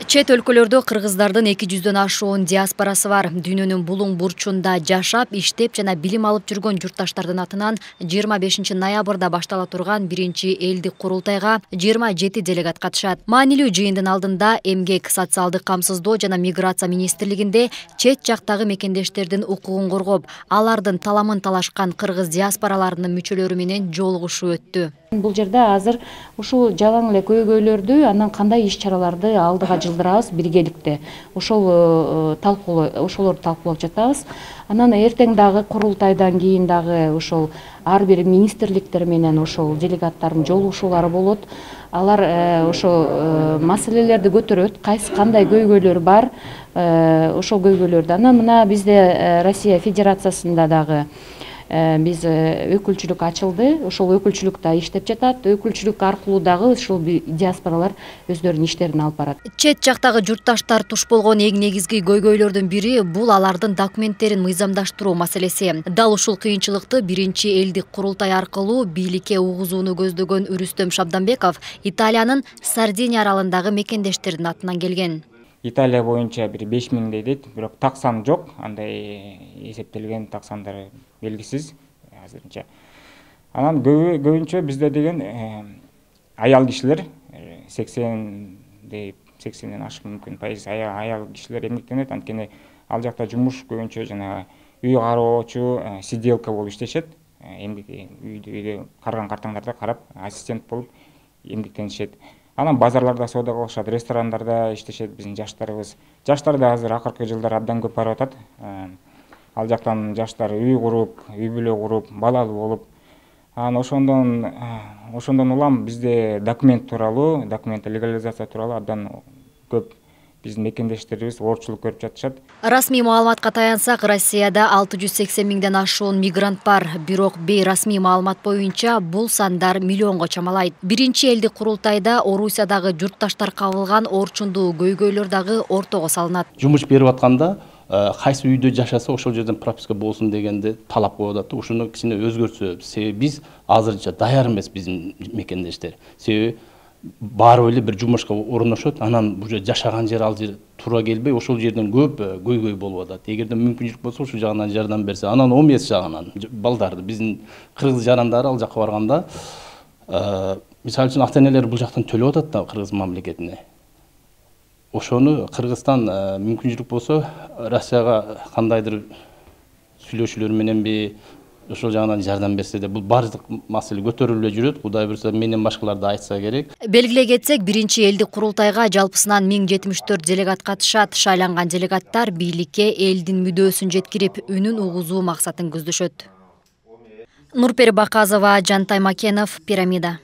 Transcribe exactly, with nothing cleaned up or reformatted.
Чет өлкөлөрдө кыргыздардын эки жүздөн ашуун диаспорасы бар. Дүйнөнүн булуң бурчунда жашап, иштеп жана билим алып жүргөн журтташтардын атынан жыйырма бешинчи ноябрда баштала турган биринчи элдик курултайга жыйырма жети делегат катышат. Маанилүү жыйындын алдында эмгек, социалдык камсыздоо жана миграция министрлигинде чет жактагы мекендештердин укугун коргоп, алардын таламын талашкан кыргыз диаспораларынын мүчөлөрү менен жолугушуу өттү. Бул жерде азыр ушул жалаң эле көйгөйлөрдү, анан кандай иш-чараларды алдыга жылдырабыз биргеликте. Ошол талкуулоо, ошолорду талкуулап жатабыз. Анан эртең дагы курултайдан кийин дагы ошол ар бир министрликтер менен ошол делегаттардын жолугушуулары болот. Алар ошол маселелерди көтөрөт, кайсы кандай көйгөйлөр бар, ошол көйгөйлөрдү. Анан мына бизде Россия Федерациясында дагы биз өкүлчүлүк ачылды. Ошол өкүлчүлүк да иштеп жатат. Өкүлчүлүк аркылуу дагы ушул диаспоралар өздөрүнүн иштерин алып барат. Чет жактагы журтташтар туш болгон эң негизги көйгөйлөрдүн бири бул алардын документтерин мыйзамдаштыруу маселеси. Дал ушул кыйынчылыкты биринчи элдик курултай аркылуу бийликке угузууну көздөгөн Үрүстөм Шабданбеков Италиянын Сардиния аралындагы мекендештердин атынан келген. Италия боюнча бир беш миңдей дейт, бирок так сан жок. Андай эсептелген так сандары белгисиз азырынча. Анан көбүнчө бизде деген аял кишилер сексендей сексенден ашык мүмкүн пайыз аял кишилер эмгектенет. Анткени ал жакта жумуш көбүнчө жана үй кароочу, сиделка болуп иштешет. Эмгек үйдө үйдө карган картаңдарда карап, ассистент болуп эмгектенишет. Анан базарларда соода кылышат, ресторандарда иштешет биздин жаштарыбыз. Жаштар да азыр акыркы жылдары абдан көп барып атат. Ал жактан жаштар үй куруп, үй бүлө куруп, балалуу болуп. Анан ошондон ошондон улам бизде документ тууралуу, документ легализация тууралуу абдан көп биздин мекендештерибиз оорчулук көрүп жатышат. Расмий маалыматка таянсак, Россияда алты жүз сексен миңден ашуун мигрант бар. Бирок бейрасмий маалымат боюнча бул сандар миллионго чамалайт. Биринчи элдик курултайда Орусиядагы журтташтар кабылган орчундуу көйгөйлөр дагы ортого салынат. Жумуш берип атканда кайсы үйдө жашаса ошол жерден прописка болсун дегенде талап коюп атат. Ушуну кичине өзгөртсө, себеби биз азырынча даяр эмес биздин мекендештер. Себеби барып эле бир жумушка орношот, анан бул жер жашаган жер ал жер туура келбей, ошол жерден көп көйгөй болуп атат. Эгерде мүмкүнчүлүк болсо, ушул жагынан жардам берсе, анан он беш жагынан балдарды биздин кыргыз жарандары ал жакка барганда, мисалы үчүн ата-энелер бул жактан төлөп атат да кыргыз мамлекетине. Ошону Кыргызстан мүмкүнчүлүк болсо, Россияга кандайдыр сүйлөшүүлөр мененби ошол жагынан жардам берсе де, бул бардык маселе көтөрүлүп эле жүрөт. Кудай буюрса, менден башкалар да айтса керек. Белгилей кетсек, биринчи элдик курултайга жалпысынан миң жетимиш төрт делегат катышат. Шайланган делегаттар бийликке элдин мүдөөсүн жеткирип, үнүн угузуу максатын көздөшөт. Нурпери Баказова, Жантай Макенов, Пирамида.